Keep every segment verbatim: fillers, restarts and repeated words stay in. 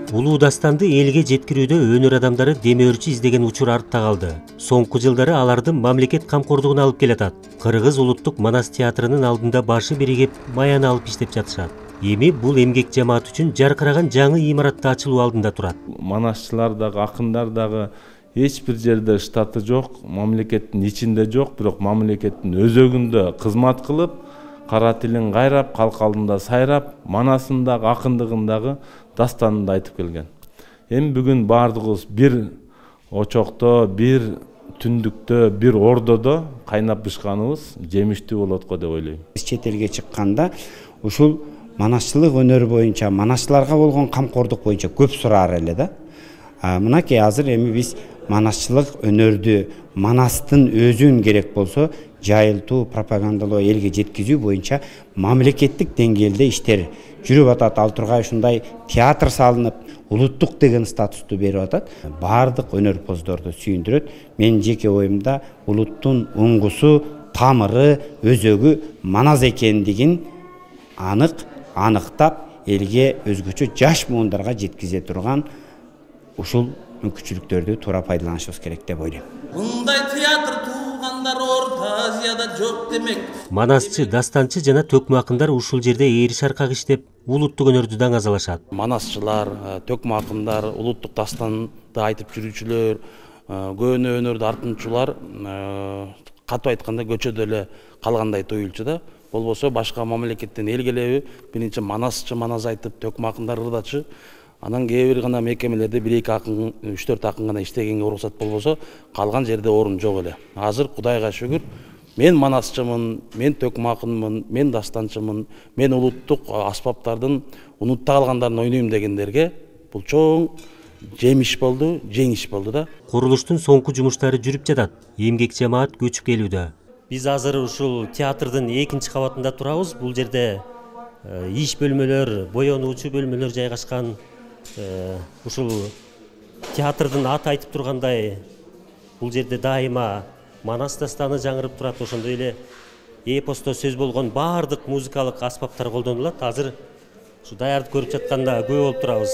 Улуу дастанды элге жеткирүүдө өнөр адамдары демөөрчү издеген учур артта калды. Соңку жылдары аларды мамлекет камкордугуна алып келатат. Кыргыз улуттук манас театрынын алдында башы биригип маяны алып иштеп жатышат. Эми бул эмгек жамаат үчүн жаркыраган жаңы имаратта ачылуу алдында турат. Манасчылар дагы, акындар дагы эч бир жерде штаты жок, мамлекеттин ичинде жок, бирок мамлекеттин өзөгүндө кызмат кылып, кара тилин кайрап, калк алдында сайрап, манасындагы, акындыгындагы дастанын да айтып келген. Эми бүгүн баардыгыбыз бир очокто, бир түндүктө, бир ордодо кайнап бышканыбыз жемиштүү болот го деп ойлойм. Чет элге чыкканда ушул манасчылык өнөрү боюнча, манасчыларга болгон камкордук боюнча көп сураар эле да. Мынакей азыр эми биз манасчылык өнөрдү, манастын өзүн керек болсо жайылтуу, пропагандалоо, элге жеткизүү боюнча мамлекеттик деңгээлде иштер жүрүп атат. Ал тургай ушундай театр салынып, улуттук деген статусту берип атат. Баардык өнөрпоздорду сүйүндүрөт. Менин жеке оюмда улуттун уңгусу, тамыры, өзөгү манас экендигин анык аныктап, элге өзгөчө жаш муундарга жеткизе турган ушул мүмкүнчүлүктөрдү туура пайдаланышыбыз керек деп ойлойм. Мындай театр туугандар Орто Азияда жок демек. Манасчы, дастанчы жана төкмө акындар ушул жерде ээри шаркак иштеп, улуттук өнөрдү даңазалашат. Манасчылар, төкмө акындар, улуттук дастанды айтып жүрүүчүлөр, көөнө өнөрдү артынчулар катуу айтканда көчөдө эле калгандай туюлчу да. Болбосо башка мамлекеттен эл келеби, биринчи манасчы манас айтып, төкмө акындар ырдачы. Анан кээ бир гана мекемелерде бир эки акын, үч төрт акын гана иштегенге уруксат болбосо, калган жерде орун жок эле. Азыр Кудайга шүгүр, мен манасчымын, мен төкмө акынмын, мен дастанчымын, мен улуттук аспаптардын унутта калгандарын ойнойм дегендерге бул чоң жемиш болду, жеңиш болду да. Курулуштун соңку жумуштары жүрүп жатат. Эмгек жамаат көчүп келүүдө. Биз азыр ушул театрдын экинчи кабатында турабыз. Бул жерде иш бөлмөлөр, боенуучу бөлмөлөр жайгашкан. Ушул театрдын аты айтып тургандай, бул жерде дайыма манас дастаны жаңырып турат. Ошондой эле эпосто сөз болгон баардык музыкалык аспаптар колдонулат. Азыр ушу даярдык көрүп жатканда күбө болуп турабыз.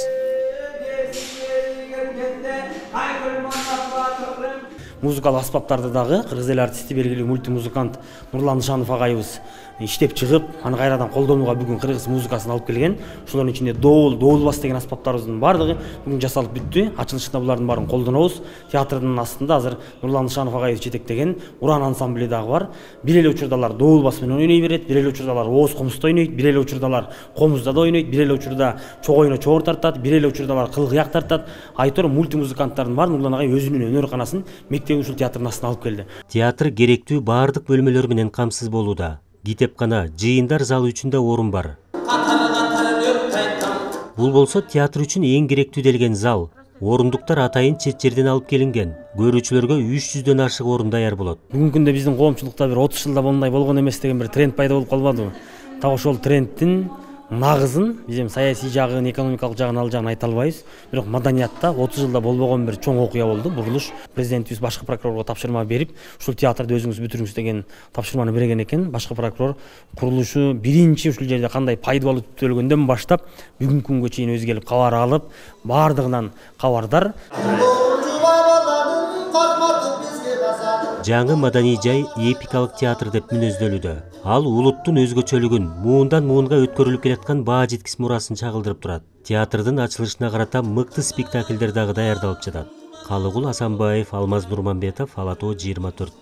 Музыкалык аспаптарды дагы кыргыз эл артисти, белгилүү мультимузыкант Нурлан Нышанов агайыбыз иштеп чыгып, аны кайрадан колдонууга бүгүн кыргыз музыкасын алып келген. Ошолордун ичинде доол, доолбас деген аспаптарыбыздын баардыгы бүгүн жасалып бүттү. Ачылышында булардын баарын колдонобуз. Театрдын астында азыр Нурлан Нышанов агайыбыз жетектеген Уран ансамбли дагы бар. Бир эле учурдалар доолбас менен ойной берет, бир эле учурдалар ооз комузда ойнойт, бир эле учурдалар комузда да ойнойт, бир эле учурда чогойно чоор тартат, бир эле учурдалар кыл-кыяк тартат. Айтор мультимузыканттардын бар Нурлан агай өзүнүн өнөр-канасын мектеп ушул театрдын астына алып келди. Театр керектүү баардык бөлмөлөр менен камсыз болууда. Китепкана, жыйындар залы үчүн да орун бар. Бул болсо театр үчүн эң керектүү делген зал. Орундуктар атайын чет жерден алып келинген. Көрүүчүлөргө үч жүздөн ашык орун даяр болот. Бүгүнкү күндө биздин коомчулукта бир отуз жылда мындай болгон эмес деген бир тренд пайда болуп калбадыбы? Так ошол трендтин нагызын биз эми саясий жагын, экономикалык жагын ал жагын айта албайбыз. Бирок маданиятта отуз жылда болбогон бир чоң окуя болду. Бурулуш президентибиз башкы прокурорго тапшырма берип, ушул театрды өзүңүз бүтүрүңүз деген тапшырманы берген экен. Башкы прокурор курулушу биринчи ушул жерде кандай пайдалуу түтөлгөндөн баштап бүгүнкү күнгө чейин өзү келип кабар алып, баардыгынан кабардар. Жаңы маданий жай эпикалык театр деп мүнөздөлүүдө. Ал улуттун өзгөчөлүгүн, муундан муунга өткөрүлүп келаткан баа жеткис мурасын чагылдырып турат. Театрдын ачылышына карата мыкты спектакльдер дагы даярдалып жатат. Калыгул Асанбаев, Алмаз Нурманбетов, Ала тоо жыйырма төрт.